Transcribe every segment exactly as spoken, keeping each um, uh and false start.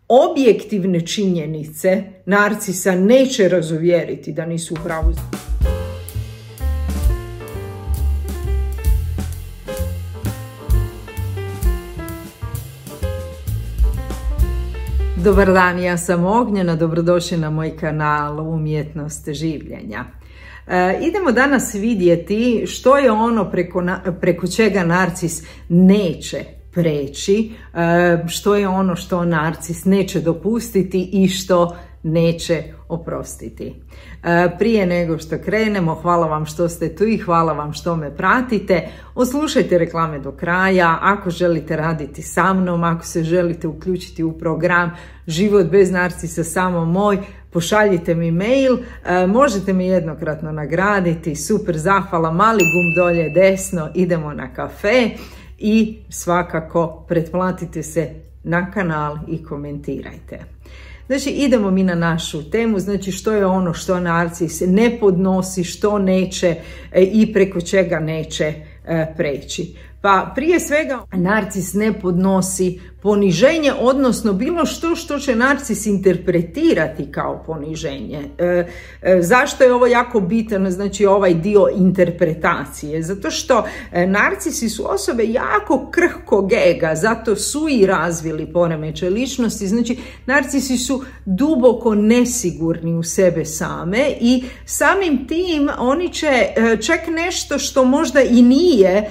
objektivne činjenice narcisa neće razuvjeriti da nisu u pravu. Dobar dan, ja sam Ognjena, dobrodošli na moj kanal Umjetnost življenja. E, idemo danas vidjeti što je ono preko, preko čega narcis neće preći, e, što je ono što narcis neće dopustiti i što neće oprostiti. E, prije nego što krenemo, hvala vam što ste tu i hvala vam što me pratite. Oslušajte reklame do kraja. Ako želite raditi sa mnom, ako se želite uključiti u program Život bez narcisa samo moj, pošaljite mi mail, e, možete me jednokratno nagraditi, super zahvala, mali gumb dolje desno, idemo na kafe i svakako pretplatite se na kanal i komentirajte. Znači idemo mi na našu temu, znači što je ono što narcis ne podnosi, što neće e, i preko čega neće e, preći. Pa prije svega narcis ne podnosi poniženje, odnosno bilo što što će narcis interpretirati kao poniženje. E, e, zašto je ovo jako bitan, znači ovaj dio interpretacije? Zato što e, narcisi su osobe jako krhkog ega, zato su i razvili poremećaj ličnosti. Znači narcisi su duboko nesigurni u sebe same i samim tim oni će e, čak nešto što možda i nije e,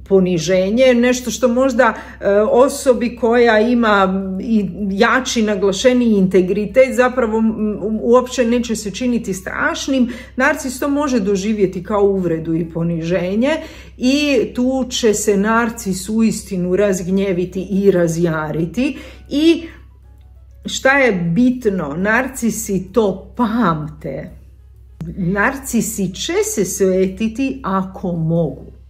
poniženje, nešto što možda e, osobi koja ima i jači, naglašeni integritet, zapravo uopće neće se činiti strašnim, narcis to može doživjeti kao uvredu i poniženje i tu će se narcis uistinu razgnjeviti i razjariti. I šta je bitno, narcisi to pamte. Narcisi će se svetiti ako mogu.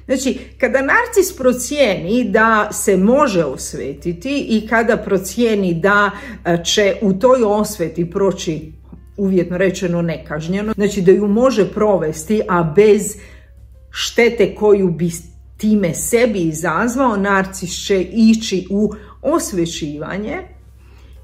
Znači, kada narcis procijeni da se može osvetiti i kada procijeni da će u toj osveti proći, uvjetno rečeno, nekažnjeno, znači da ju može provesti, a bez štete koju bi time sebi izazvao, narcis će ići u osvećivanje.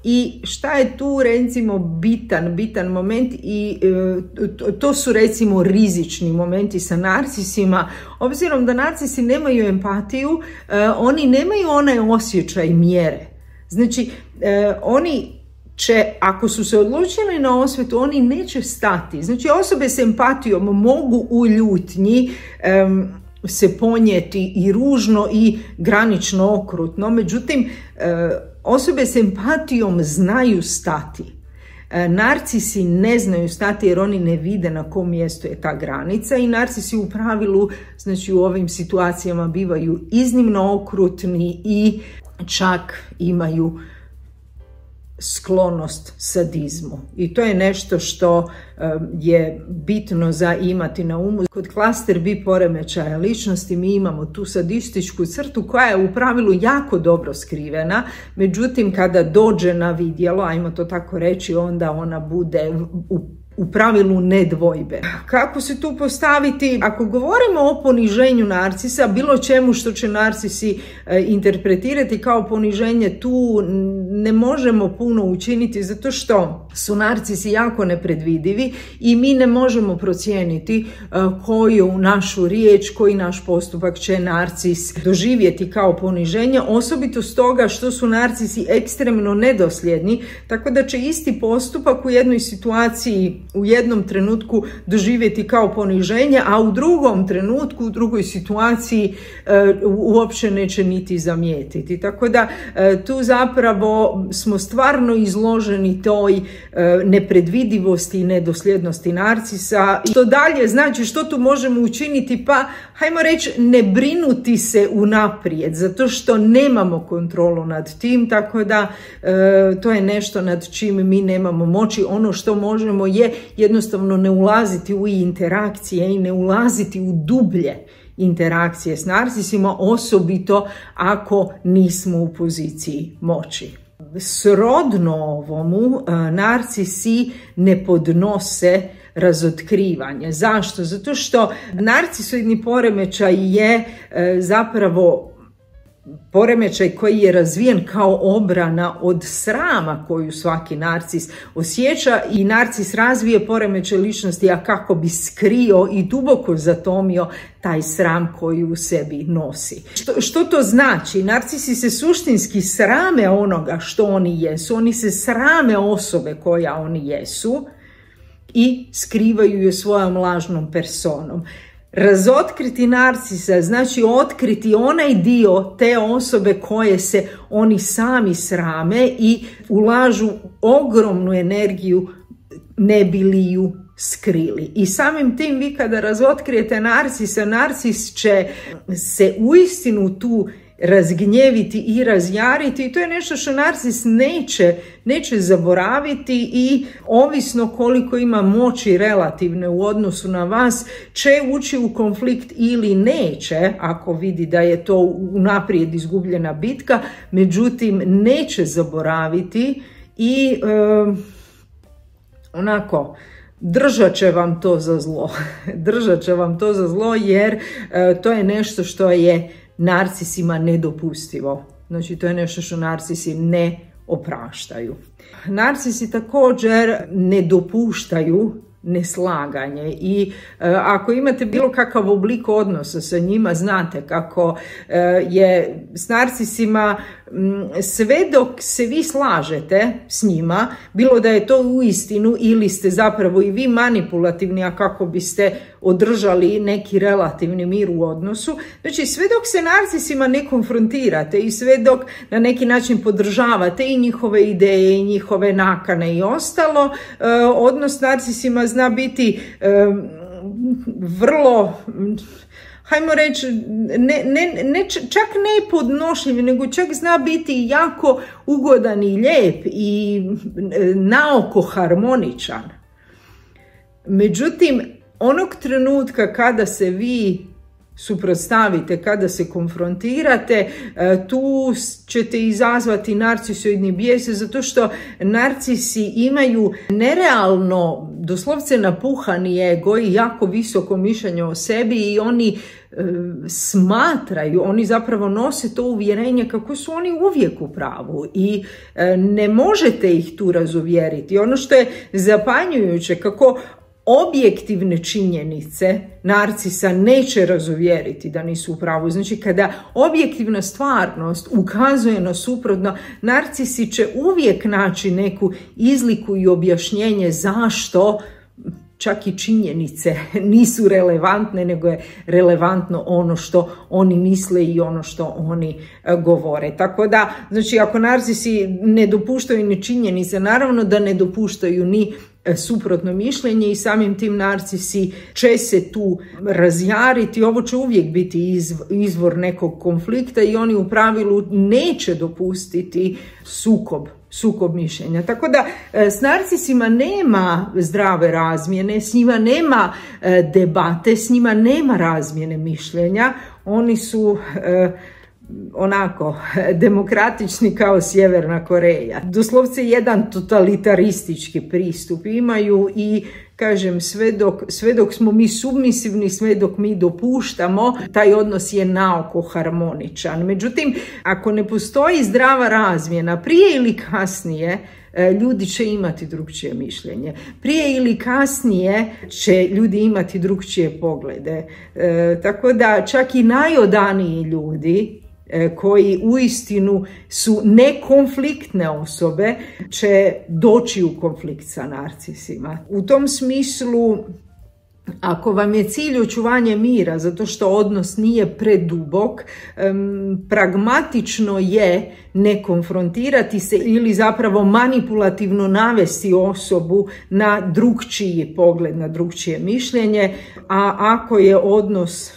I šta je tu recimo bitan, bitan moment i e, to su recimo rizični momenti sa narcisima, obzirom da narcisi nemaju empatiju, e, oni nemaju onaj osjećaj mjere. Znači e, oni će, ako su se odlučili na osvetu, oni neće stati. Znači osobe s empatijom mogu u ljutnji e, se ponijeti i ružno i granično okrutno, međutim e, osobe s empatijom znaju stati. E, narcisi ne znaju stati jer oni ne vide na kom mjestu je ta granica i narcisi u pravilu, znači u ovim situacijama bivaju iznimno okrutni i čak imaju sklonost sadizmu. I to je nešto što um, je bitno za imati na umu. Kod klaster B poremećaja ličnosti mi imamo tu sadističku crtu koja je u pravilu jako dobro skrivena, međutim kada dođe na vidjelo, ajmo to tako reći, onda ona bude u u pravilu nedvojbe. Kako se tu postaviti? Ako govorimo o poniženju narcisa, bilo čemu što će narcisi e, interpretirati kao poniženje, tu ne možemo puno učiniti zato što su narcisi jako nepredvidivi i mi ne možemo procijeniti e, koju našu riječ, koji naš postupak će narcis doživjeti kao poniženje, osobito stoga što su narcisi ekstremno nedosljedni, tako da će isti postupak u jednoj situaciji u jednom trenutku doživjeti kao poniženje, a u drugom trenutku, u drugoj situaciji e, uopće neće niti zamijetiti. Tako da e, tu zapravo smo stvarno izloženi toj e, nepredvidivosti i nedosljednosti narcisa. Što dalje, znači što tu možemo učiniti? Pa hajmo reći ne brinuti se unaprijed, zato što nemamo kontrolu nad tim, tako da e, to je nešto nad čim mi nemamo moći. Ono što možemo je jednostavno ne ulaziti u interakcije i ne ulaziti u dublje interakcije s narcisima, osobito ako nismo u poziciji moći. Srodno ovomu, narcisi ne podnose razotkrivanje. Zašto? Zato što narcisoidni poremećaj je zapravo poremećaj koji je razvijen kao obrana od srama koju svaki narcis osjeća, i narcis razvije poremećaj ličnosti, a kako bi skrio i duboko zatomio taj sram koji u sebi nosi. Što, što to znači? Narcisi se suštinski srame onoga što oni jesu, oni se srame osobe koja oni jesu i skrivaju je svojom lažnom personom. Razotkriti narcisa znači otkriti onaj dio te osobe koje se oni sami srame i ulažu ogromnu energiju ne bi li ju skrili. I samim tim vi kada razotkrijete narcisa, narcis će se uistinu tu razgnjeviti i razjariti, i to je nešto što narcis neće, neće zaboraviti, i ovisno koliko ima moći relativne u odnosu na vas će ući u konflikt ili neće, ako vidi da je to unaprijed izgubljena bitka, međutim neće zaboraviti i e, onako držat će vam to za zlo. Držat će vam to za zlo jer e, to je nešto što je narcisima nedopustivo. Znači, to je nešto što narcisi ne opraštaju. Narcisi također ne dopuštaju neslaganje i e, ako imate bilo kakav oblik odnosa sa njima, znate kako e, je s narcisima m, sve dok se vi slažete s njima, bilo da je to uistinu ili ste zapravo i vi manipulativni, a kako biste održali neki relativni mir u odnosu, znači sve dok se narcisima ne konfrontirate i sve dok na neki način podržavate i njihove ideje i njihove nakane i ostalo, e, odnos s narcisima zna biti e, vrlo, hajmo reći, ne, ne, ne, čak ne podnošljiv, nego čak zna biti jako ugodan i lijep i naoko harmoničan. Međutim, onog trenutka kada se vi suprotstavite, kada se konfrontirate, tu ćete izazvati narcisoidni bijes, zato što narcisi imaju nerealno, doslovce napuhani ego i jako visoko mišljenje o sebi, i oni e, smatraju, oni zapravo nose to uvjerenje kako su oni uvijek u pravu i e, ne možete ih tu razuvjeriti. Ono što je zapanjujuće, kako objektivne činjenice narcisa neće razuvjeriti da nisu u pravu. Znači, kada objektivna stvarnost ukazuje na suprotno, narcisi će uvijek naći neku izliku i objašnjenje zašto čak i činjenice nisu relevantne, nego je relevantno ono što oni misle i ono što oni govore. Tako da, znači, ako narcisi ne dopuštaju ni činjenice, naravno da ne dopuštaju ni suprotno mišljenje, i samim tim narcisi će se tu razjariti. Ovo će uvijek biti izvor nekog konflikta i oni u pravilu neće dopustiti sukob, sukob mišljenja. Tako da s narcisima nema zdrave razmjene, s njima nema debate, s njima nema razmjene mišljenja. Oni su onako demokratični kao Sjeverna Koreja. Doslovce jedan totalitaristički pristup imaju i kažem, sve dok, sve dok smo mi submisivni, sve dok mi dopuštamo, taj odnos je naoko harmoničan. Međutim, ako ne postoji zdrava razmjena, prije ili kasnije ljudi će imati drugčije mišljenje. Prije ili kasnije će ljudi imati drugčije poglede. E, tako da čak i najodaniji ljudi koji uistinu su nekonfliktne osobe će doći u konflikt sa narcisima. U tom smislu, ako vam je cilj očuvanje mira, zato što odnos nije predubok, um, pragmatično je ne konfrontirati se ili zapravo manipulativno navesti osobu na drugčiji pogled, na drugčije mišljenje, a ako je odnos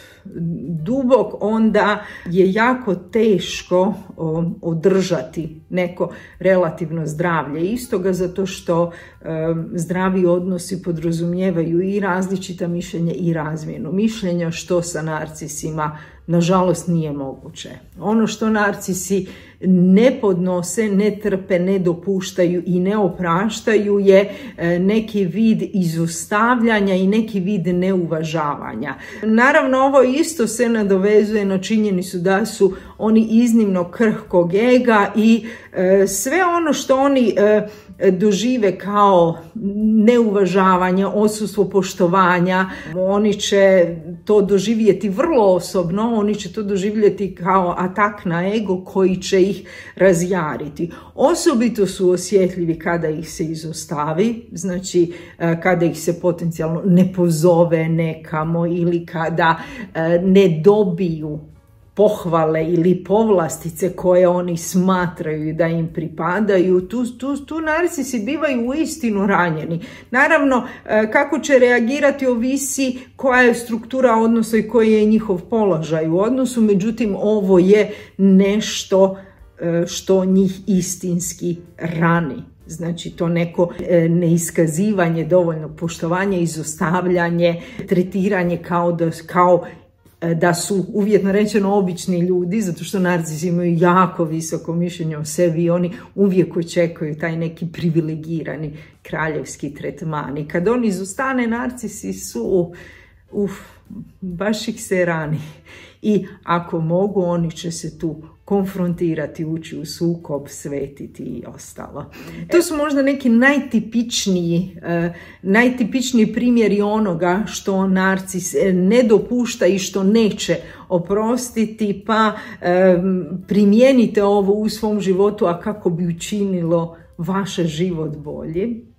dubok, onda je jako teško o, održati neko relativno zdravlje istoga, zato što e, zdravi odnosi podrazumijevaju i različita mišljenja i razmjenu mišljenja, što sa narcisima nažalost nije moguće. Ono što narcisi ne podnose, ne trpe, ne dopuštaju i ne opraštaju je neki vid izostavljanja i neki vid neuvažavanja. Naravno, ovo isto se nadovezuje na činjenicu da su oni iznimno krhkog ega i sve ono što oni dožive kao neuvažavanje, odsustvo poštovanja, oni će to doživjeti vrlo osobno, oni će to doživjeti kao atak na ego koji će ih razjariti. Osobito su osjetljivi kada ih se izostavi, znači kada ih se potencijalno ne pozove nekamo ili kada ne dobiju pohvale ili povlastice koje oni smatraju da im pripadaju. Tu, tu, tu narcisi bivaju uistinu ranjeni. Naravno, kako će reagirati ovisi koja je struktura odnosa i koji je njihov položaj u odnosu, međutim ovo je nešto što njih istinski rani. Znači to neko neiskazivanje dovoljnog poštovanja, izostavljanje, tretiranje kao da, kao da su uvjetno rečeno obični ljudi, zato što narcisi imaju jako visoko mišljenje o sebi i oni uvijek očekuju taj neki privilegirani kraljevski tretman. I kad on izostane, narcisi su, uf, baš ih se rani. I ako mogu, oni će se tu konfrontirati, ući u sukob, svetiti i ostalo. To su možda neki najtipičniji, uh, najtipičniji primjeri onoga što narcis ne dopušta i što neće oprostiti, pa um, primijenite ovo u svom životu, a kako bi učinilo vaš život bolji.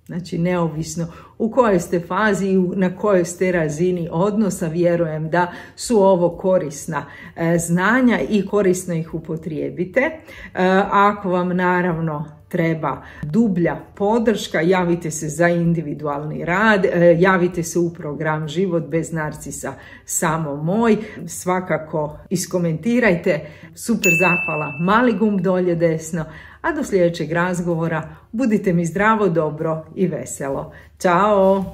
Znači, neovisno u kojoj ste fazi i na kojoj ste razini odnosa, vjerujem da su ovo korisna e, znanja i korisno ih upotrijebite. E, ako vam naravno treba dublja podrška, javite se za individualni rad, e, javite se u program Život bez narcisa samo moj. Svakako iskomentirajte. Super zahvala, mali gumb dolje desno. A do sljedećeg razgovora budite mi zdravo, dobro i veselo. Ćao!